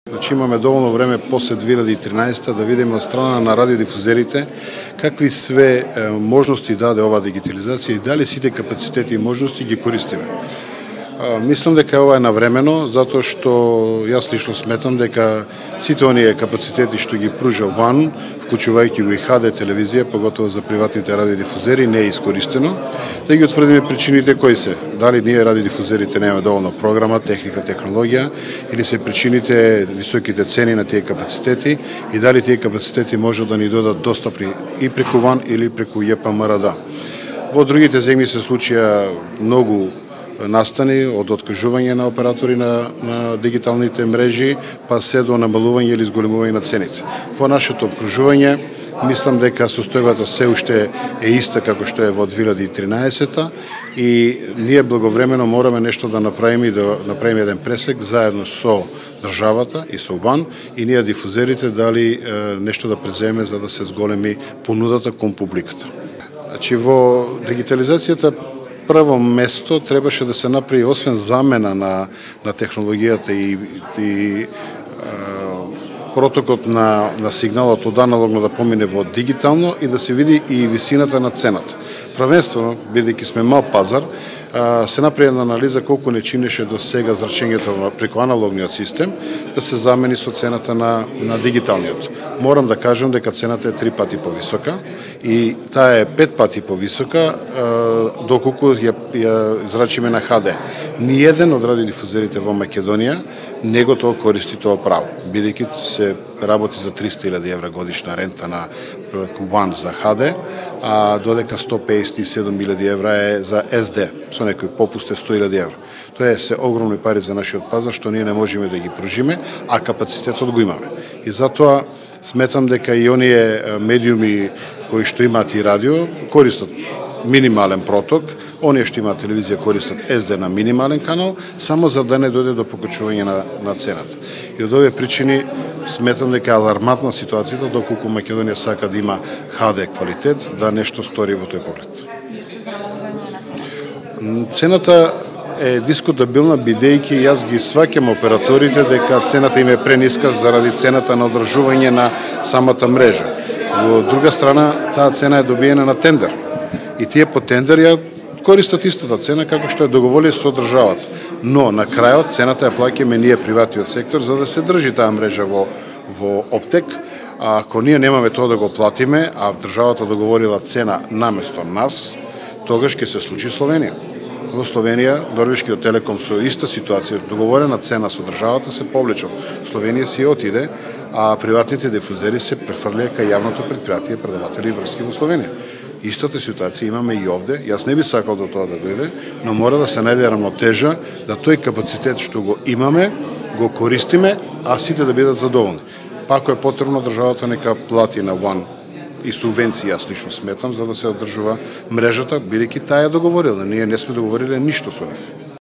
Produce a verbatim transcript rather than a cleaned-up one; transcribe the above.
Значи имаме доволно време после две илјади и тринаесета да видиме од страна на радиодифузерите какви све е, можности даде оваа дигитализација и дали сите капацитети и можности ги користиме. А, мислам дека ова е навремено, затоа што јас лично сметам дека сите оние капацитети што ги пружа УАН, вклучувајќи го и ха де телевизија, поготово за приватните радиодифузери, не е искористено. Да ги утврдиме причините кои се. Дали ние радиодифузерите немаме доволно програма, техника, технологија, или се причините високите цени на тие капацитети и дали тие капацитети може да ни додат достапни и преку УАН или преку Је Пе Ем Ар Да. Во другите земји се случија многу настани од откажување на оператори на, на дигиталните мрежи, па се до намалување или зголемување на цените. Во нашето обкружување, мислам дека состојбата се уште е иста како што е во две илјади и тринаесета и ние благовремено мораме нешто да направиме и да направиме еден пресек заедно со државата и со УАН и ние дифузерите дали е, нешто да преземе за да се зголеми понудата кон публиката. Значи во дигитализацијата прво место требаше да се направи освен замена на, на технологијата и, и е, протокот на, на сигналот од аналогно да помине во дигитално и да се види и висината на цената. Правенствено, бидејќи сме мал пазар, се направи една анализа колку не чинеше до сега зрачењето преку аналогниот систем да се замени со цената на, на дигиталниот. Морам да кажам дека цената е три пати повисока и таа е пет пати повисока доколку ја, ја зрачиме на ха де. Ниеден од радиодифузерите во Македонија не го тоа користи тоа право, бидејќи се работи за триста илјади евра годишна рента на УАН за ха де, а додека сто пеесет и седум илјади евра е за ес де, со некој попуст е сто илјади евра. Тоа е се огромни пари за нашиот пазар што ние не можеме да ги пружиме, а капацитетот го имаме. И затоа сметам дека и оние медиуми кои што имаат и радио користат минимален проток, оние што имаат телевизија користат ес де на минимален канал, само за да не дојде до покачување на, на цената. И од овие причини сметам дека е алармантна ситуацијата доколку Македонија сака да има ха де квалитет, да нешто стори во тој поглед. Цената е дискутабилна, бидејќи јас ги сваќам операторите дека цената им е прениска заради цената на одржување на самата мрежа. Во друга страна, таа цена е добиена на тендер. И тие по тендер ја користат истата цена како што е договорили со државата. Но на крајот цената ја плаќаме ние приватниот сектор за да се држи таа мрежа во во оптек. А ако ние немаме тоа да го платиме, а државата договорила цена наместо нас, тогаш ќе се случи Словенија. Во Словенија норвешкиот телеком со иста ситуација, договорена цена со државата се повлече. Словенија си отиде, а приватните дифузери се префрлија кај јавното претпријатие предаватели врски во Словенија. Истата ситуација имаме и овде. Јас не би сакал до тоа да дојде, но мора да се најде рамнотежа да тој капацитет што го имаме, го користиме, а сите да бидат задоволни. Па ако е потребно државата нека плати на УАН и субвенции, јас лично сметам, за да се одржува мрежата, бидејќи таа е договорила. Ние не сме договориле ништо со нив.